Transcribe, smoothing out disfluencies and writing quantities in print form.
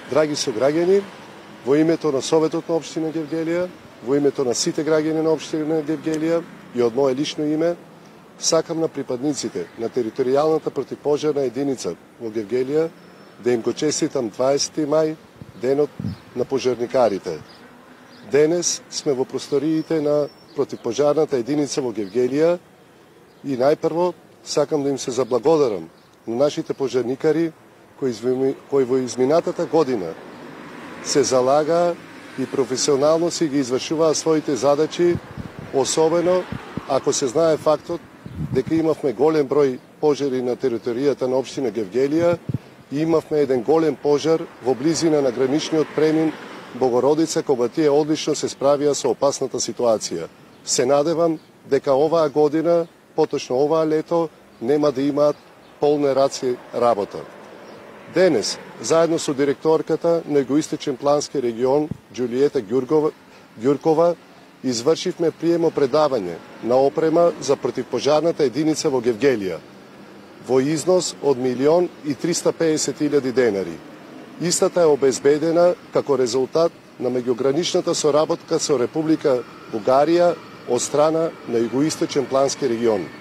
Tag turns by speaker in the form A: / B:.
A: Драги сограѓани, во името на Советот на општина Гевгелија, во името на сите граѓани на општина Гевгелија и од мое лично име, сакам на припадниците на територијалната противпожарна единица во Гевгелија да им го честитам 20 мај, денот на пожарникарите. Денес сме во просториите на противпожарната единица во Гевгелија и најпрво сакам да им се заблагодарам на нашите пожарникари кои во изминатата година се залага и професионално си ги извршуваа своите задачи, особено ако се знае фактот дека имавме голем број пожари на територијата на општина Гевгелија и имавме еден голем пожар во близина на граничниот премин Богородица, кога тие одлично се справија со опасната ситуација. Се надевам дека оваа година, поточно оваа лето, нема да имаат полне раци работа. Денес, заедно со директорката на Југоисточен плански регион Џулиета Ѓуркова, извршивме приемо предавање на опрема за противпожарната единица во Гевгелија во износ од 1.350.000 денари. Истата е обезбедена како резултат на меѓуграничната соработка со Република Бугарија од страна на Југоисточен плански регион.